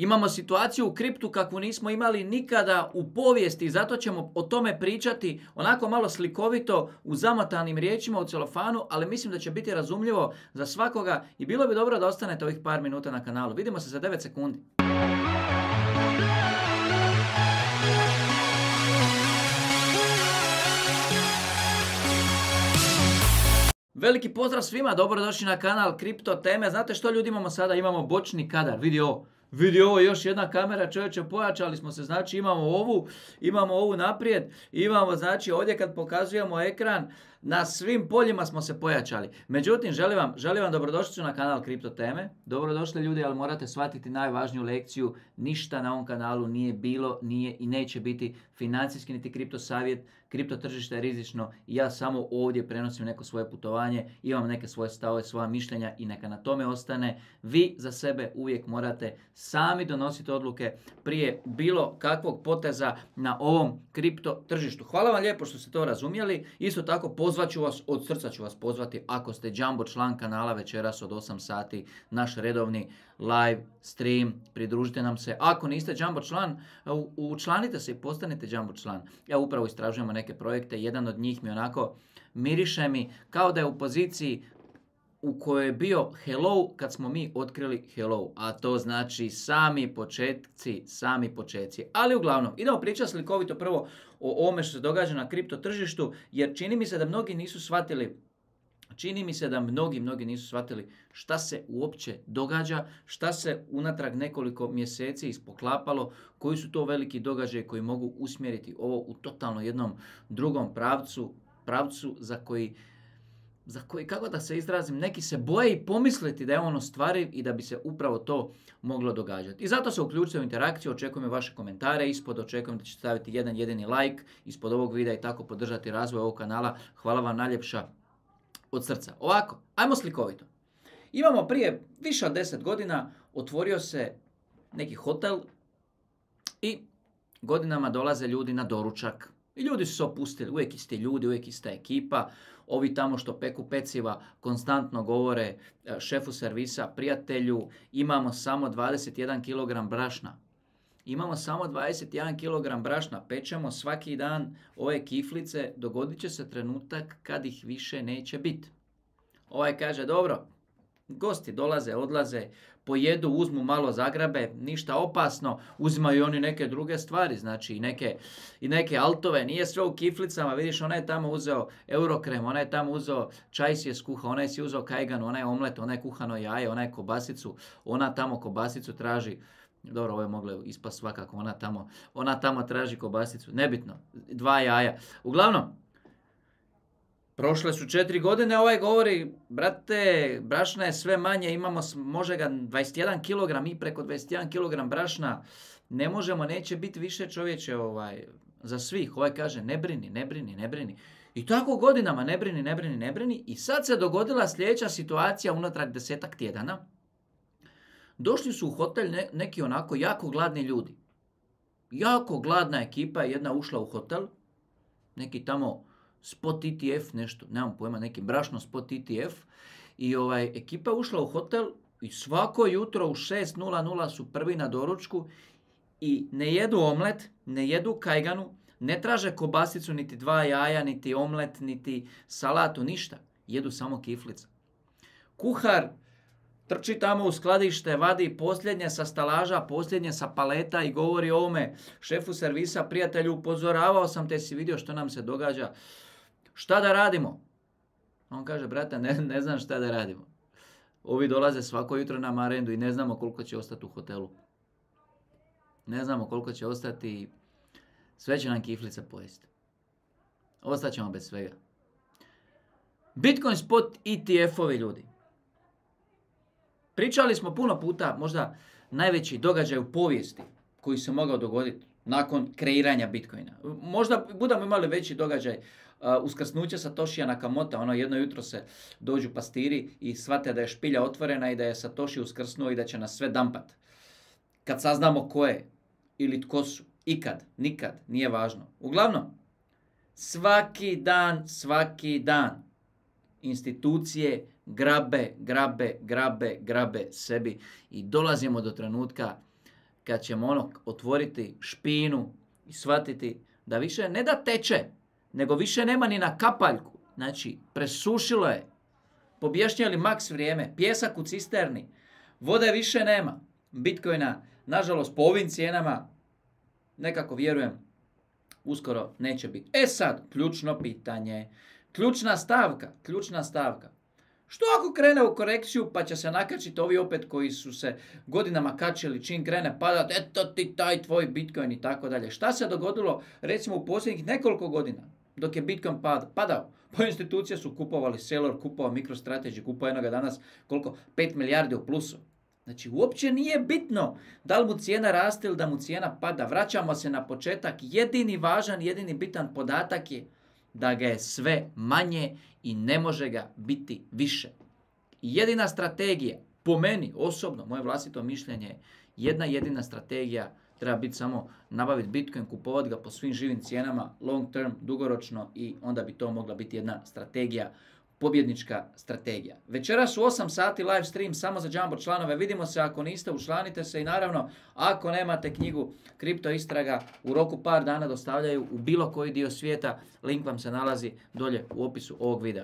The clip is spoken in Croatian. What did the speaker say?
Imamo situaciju u kriptu kakvu nismo imali nikada u povijesti i zato ćemo o tome pričati onako malo slikovito u zamotanim riječima u celofanu, ali mislim da će biti razumljivo za svakoga i bilo bi dobro da ostanete ovih par minuta na kanalu. Vidimo se za 9 sekundi. Veliki pozdrav svima, dobrodošli na kanal Kripto teme. Znate što ljudi imamo sada? Imamo bočni kadar, vidi ovo, još jedna kamera, čovječe, pojačali smo se, znači imamo ovu naprijed, imamo znači ovdje kad pokazujemo ekran, na svim poljima smo se pojačali. Međutim, želim vam dobrodošlicu na kanal Kripto teme. Dobrodošli ljudi, ali morate shvatiti najvažniju lekciju. Ništa na ovom kanalu nije bilo, nije i neće biti financijski niti kripto savjet. Kripto tržište je rizično i ja samo ovdje prenosim neko svoje putovanje, imam neke svoje stavove, svoja mišljenja i neka na tome ostane. Vi za sebe uvijek morate sami donositi odluke prije bilo kakvog poteza na ovom kripto tržištu. Hvala vam lijepo što ste to razumjeli. Isto tako od srca ću vas pozvati ako ste jumbo član kanala večeras od 8 sati, naš redovni live stream, pridružite nam se. Ako niste jumbo član, učlanite se i postanite jumbo član. Ja upravo istražujemo neke projekte, jedan od njih mi onako miriše mi kao da je u poziciji u kojoj je bio hello kad smo mi otkrili hello, a to znači sami početci. Ali uglavnom, idemo pričati slikovito prvo o ovome što se događa na kripto tržištu, jer čini mi se da mnogi nisu shvatili šta se uopće događa, šta se unatrag nekoliko mjeseci ispoklapalo, koji su to veliki događaji koji mogu usmjeriti ovo u totalno jednom drugom pravcu za koji, kako da se izrazim, neki se boje i pomisliti da je on ostvariv i da bi se upravo to moglo događati. I zato se uključite u interakciju, očekujem vaše komentare ispod, očekujem da ćete staviti jedan jedini like ispod ovog videa i tako podržati razvoj ovog kanala. Hvala vam najljepša od srca. Ovako, ajmo slikovito. Imamo prije više od 10 godina, otvorio se neki hotel i godinama dolaze ljudi na doručak. I ljudi su se opustili, uvijek isti ljudi, uvijek ista ekipa. Ovi tamo što peku peciva konstantno govore šefu servisa, prijatelju, imamo samo 21 kg brašna. Imamo samo 21 kg brašna, pečemo svaki dan ove kiflice, dogodit će se trenutak kad ih više neće biti. Ovaj kaže, dobro, gosti dolaze, odlaze, pojedu, uzmu malo zagrabe, ništa opasno, uzimaju oni neke druge stvari, znači i neke altove, nije sve u kiflicama, vidiš, onaj je tamo uzeo eurokrem, onaj je tamo uzeo čaj si je skuhao, onaj si uzeo kajgan, onaj omlet, onaj kuhano jaje, onaj kobasicu, ona tamo kobasicu traži. Dobro, ovo je moglo ispast svakako, ona tamo traži kobasicu, nebitno, 2 jaja. Uglavnom, prošle su 4 godine, ovaj govori, brate, brašna je sve manje, imamo može ga 21 kg, mi preko 21 kg brašna ne možemo, neće biti više čovječe za svih. Ovaj kaže, ne brini. I tako godinama ne brini. I sad se dogodila sljedeća situacija unatrag 10-ak tjedana. Došli su u hotel neki onako jako gladni ljudi. Jako gladna ekipa, jedna ušla u hotel, neki tamo Spot ETF, nešto, nemam pojma, neki brašno Spot ETF. I ekipa ušla u hotel i svako jutro u 6:00 su prvi na doručku i ne jedu omlet, ne jedu kajganu, ne traže kobasicu, niti 2 jaja, niti omlet, niti salatu, ništa. Jedu samo kiflice. Kuhar trči tamo u skladište, vadi posljednje sa stalaža, posljednje sa paleta i govori ovome šefu servisa, prijatelju, upozoravao sam te, si vidio što nam se događa. Šta da radimo? On kaže, brate, ne znam šta da radimo. Ovi dolaze svako jutro na marendu i ne znamo koliko će ostati u hotelu. Ne znamo koliko će ostati, sve će nam kiflice pojesti. Ostaćemo bez svega. Bitcoin Spot ETF-ovi ljudi. Pričali smo puno puta, možda najveći događaj u povijesti koji se mogao dogoditi nakon kreiranja Bitcoina. Možda budemo imali veći događaj uskrsnuće Satoshija Nakamota, jedno jutro se dođu pastiri i shvate da je špilja otvorena i da je Satoshi uskrsnuo i da će nas sve dampat. Kad saznamo ko je ili tko su, ikad, nikad, nije važno. Uglavnom, svaki dan institucije grabe sebi i dolazimo do trenutka kad ćemo otvoriti špinu i shvatiti da više ne da teče, nego više nema ni na kapaljku. Znači, presušilo je. Pobješnjali maks vrijeme, pjesak u cisterni, vode više nema. Bitcoina, nažalost, po ovim cijenama, nekako vjerujem, uskoro neće biti. Sad, ključno pitanje, ključna stavka. Što ako krene u korekciju pa će se nakačiti ovi opet koji su se godinama kačili čim krene padat, eto ti taj tvoj Bitcoin i tako dalje. Šta se dogodilo recimo u posljednjih nekoliko godina dok je Bitcoin padao? Pa institucije su kupovali, Sailor kupovao, MicroStrategy kupovao jednoga danas, koliko? 5 milijardi u plusu. Znači, uopće nije bitno da li mu cijena raste ili da mu cijena pada. Vraćamo se na početak. Jedini bitan podatak je da ga je sve manje i ne može ga biti više. Jedina strategija, po meni osobno, moje vlastito mišljenje, jedina strategija treba biti samo nabaviti Bitcoin, kupovati ga po svim živim cijenama, long term, dugoročno i onda bi to mogla biti jedna strategija, pobjednička strategija. Večeras u 8 sati live stream samo za Jumbo članove. Vidimo se, ako niste, učlanite se i naravno ako nemate knjigu Kripto istraga, u roku par dana dostavljaju u bilo koji dio svijeta. Link vam se nalazi dolje u opisu ovog videa.